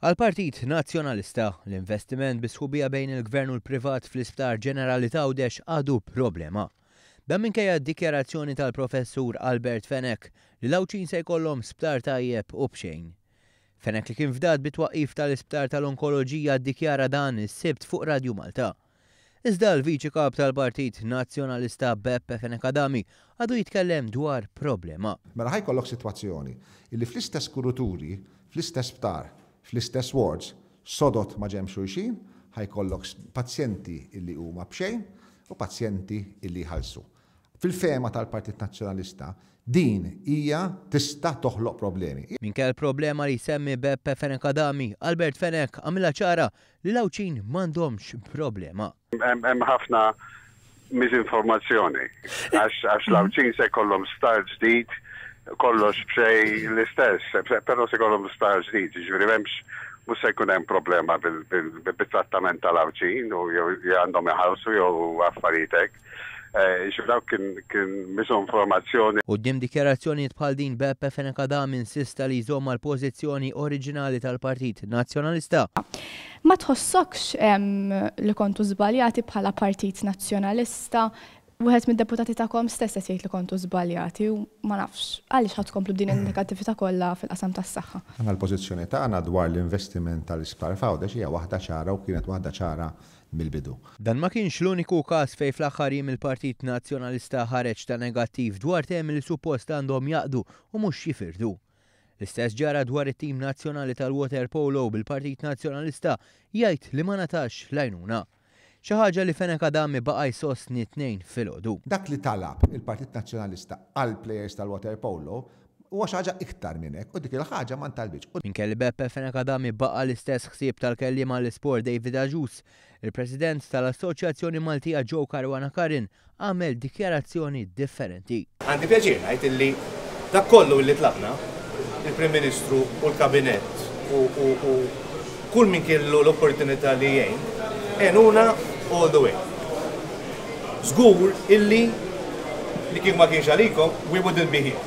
Għall-Partit Nazzjonalista, l-investiment bi sħubija bejn il-Gvern u l-privat fl-Isptar Ġenerali t'Għawdex għadu problema. Dan minkejja d-dikjarazzjoni tal-Professur Albert Fenech li l-Għawdxin se jkollhom sptar tajjeb u b'xejn. Fenech li kien fdat bit-twaqqif tal-Isptar tal-Onkoloġija ddikjara dan is-Sibt fuq Radju Malta. Iżda l-Viċi Kap tal-Partit Nazzjonalista Beppe Fenech Adami għadu jitkellem dwar problema. Mela ħa jkollok sitwazzjoni illi fl-istess kuruturi, fl-istess sptar, fl-istess wards, sodod ma' ġenb xulxin, ħa jkollok pazjenti illi huma b'xejn u pazjenti illi jħallsu. Fil-fehma tal-Partit Nazzjonalista, din hija tista' toħloq problemi. Minkejja l-problema li jsemmi Beppe Fenech Adami, Albert Fenech għamilha ċara li l-Għawdxin m'għandhomx problema. Hemm ħafna miżinformazzjoni għax l-Għawdxin se jkollhom sptar ġdid kollox b'xejn l-istess, però se jkollhom sptar ġdid, jiġifieri m'hemmx mhux se jkun hemm problema bit-trattament tal-Għawdxin u jew għandhom iħallsu jew affarijiet hekk. Jiġifieri dawk kien miżinformazzjoni. Quddiem dikjarazzjonijiet bħal din Beppe Fenech Adami insista li jżomm mal-pożizzjoni oriġinali tal-Partit Nazzjonalista. Ma tħossokx li kontu żbaljati bħala Partit Nazzjonalista? Wieħed mid-deputati tagħkom stess qed jgħid li kontu żbaljati u ma nafx għaliex ħa tkomplu b'din in-negattività kollha fil-qasam tas-saħħa. Aħna l-pożizzjoni tagħna dwar l-investiment tal-isptar f'Għawdex hija waħda ċara u kienet waħda ċara mill-bidu. Dan ma kienx l-uniku każ fejn fl-aħħar jiem il-Partit Nazzjonalista ħareġ ta' negattiv dwar temi li suppost għandhom jgħaqqdu u mhux jifirdu. L-istess ġara dwar it-tim nazzjonali tal-waterpolo bil-Partit Nazzjonalista jgħid li ma ngħatax l-għajnuna. Xi ħaġa li Fenech Adami baqa' jsostni t-Tnejn filgħodu. Dak li talab il-Partit Nazzjonalista għall-plejers tal-waterpolo huwa xi ħaġa iktar minn hekk u dik il-ħaġa ma ntalbitx. Minkejja li Beppe Fenech Adami baqa' l-istess ħsieb tal-kelliem għall-isport David Agius, il-President tal-Assoċjazzjoni Maltija Joe Caruana Curran għamel dikjarazzjoni differenti. Għandi pjaċir ngħid illi dak kollu illi tlabna, il-Prim Ministru u l-Kabinett u kull min kellu l-opportunità li jgħin, għenuna all the way. Żgur illi li kieku ma kienx għalikom, we wouldn't be here.